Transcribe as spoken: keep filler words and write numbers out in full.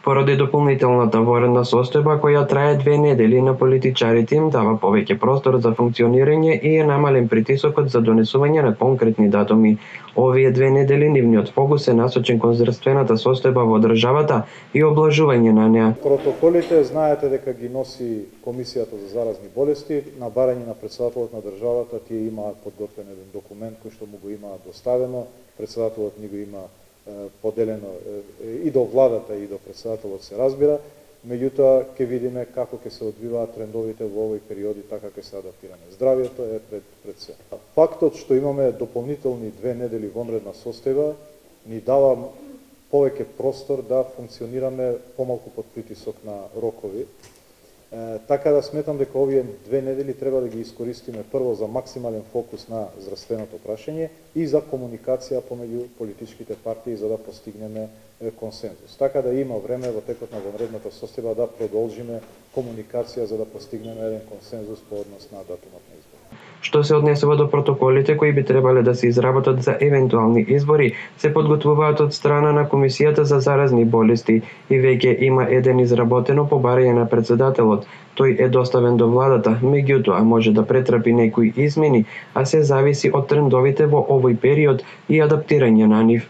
Поради дополнителната воредна состојба која трае две недели, на политичарите им дава повеќе простор за функционирање и е намален притисокот за донесување на конкретни датуми. Овие две недели нивниот фокус е насочен кон здравствената состојба во државата и облажување на неа. Протоколите знаете дека ги носи Комисијата за заразни болести. На барање на председателот на државата тие имаат подготвен еден документ кој што му го имаат доставено. Председателот ни го има поделено и до владата и до председателот, се разбира, меѓутоа ќе видиме како ќе се одвиваат трендовите во овој периоди, така ќе се адаптираме. Здравието е пред пред се. Фактот што имаме дополнителни две недели вонредна состојба ни дава повеќе простор да функционираме помалку под притисок на рокови. Е, така да сметам дека овие две недели треба да ги искористиме прво за максимален фокус на здравственото прашање и за комуникација помеѓу политичките партии за да постигнеме консензус. Така да има време во текот на вонредната состојба да продолжиме комуникација за да постигнеме еден консензус по однос на датумот на избори. Што се однесува до протоколите кои би требале да се изработат за евентуални избори, се подготвуваат од страна на Комисијата за заразни болести и веќе има еден изработено по барање на председателот. Тој е доставен до владата, меѓутоа може да претрпи некои измени, а се зависи од трендовите во овој период и адаптирање на нив.